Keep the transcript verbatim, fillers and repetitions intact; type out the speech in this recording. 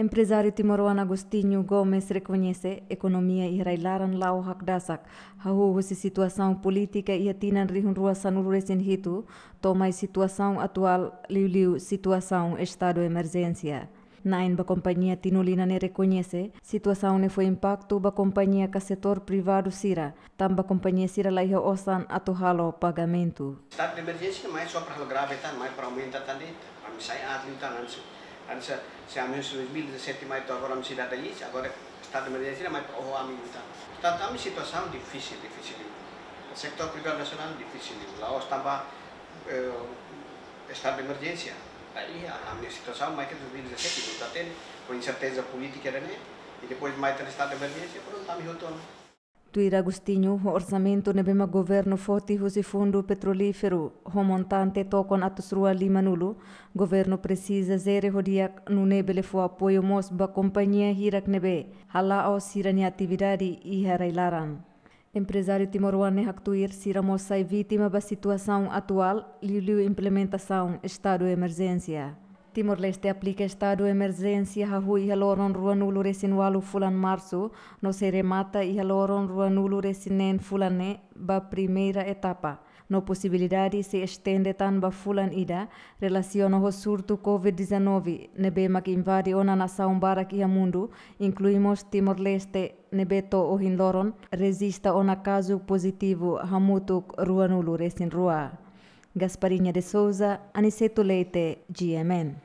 Emprezáriu timoroan Agostinho Gomes rekoñese ekonomia iha rai-laran la'o hakdasak, hahú husi situasaun polítika iha tinan rihun rua sanulu resin hitu, to'o mai situasaun atuál, liuliu situasaun estadu emerjénsia. Na'in ba kompañia Tinolina ne'e rekoñese situasaun ne'e fó impaktu ba kompañia ka setór privadu sira, tanba kompañia sira la iha osan atu halo pagamentu. Estadu de emerjénsia mai só para halo grave tan, mai para aumenta tan de'it. Ami sai aat liután, antes, antes, se ami husi dois mil e dezassete mai to'o agora ami sei dada iis, agora estadu de emerjénsia mai para oho ami liután. Portantu, ami situasaun difisil, difisil. Setór privadu nasionál difisil. La'ós tanba, eh, estadu de emerjénsia. Daí, a, ami situasaun mai ke dois mil e dezassete, portantu, ho inserteza polítika ne'e, i depois mai tan estadu de emerjénsia, prontu, ami hotu ona. Tuir Agostinho, ho orsamentu ne'ebé mak governu foti husi fundu petrolíferu, ho montante tokon atus rua limanulu, governu presiza jere ho di'ak nune'e bele fó apoiu mós ba kompañia hirak ne'ebé hala'o sira-nia atividade iha rai-laran. Emprezáriu timoroan ne'e haktuir sira mós sai vítima ba situasaun atuál, liuliu implementasaun estadu emerjénsia. Timor-Leste aplika estadu emerjénsia hahú iha loron ruanulu resin ualu fulan Marsu, no sei remata iha loron ruanulu resin neen fulan ne'e ba primeira etapa. No posibilidade sei estende tan ba fulan ida, relasiona ho surtu covid dezanove, ne'ebé mak invade ona nasaun barak iha mundu, inklui mós Timor-Leste, ne'ebé to'o ohin loron rejista ona kazu pozitivu hamutuk ruanulu resin rua. Gasparinha de Souza, Aniceto Leite, G M N.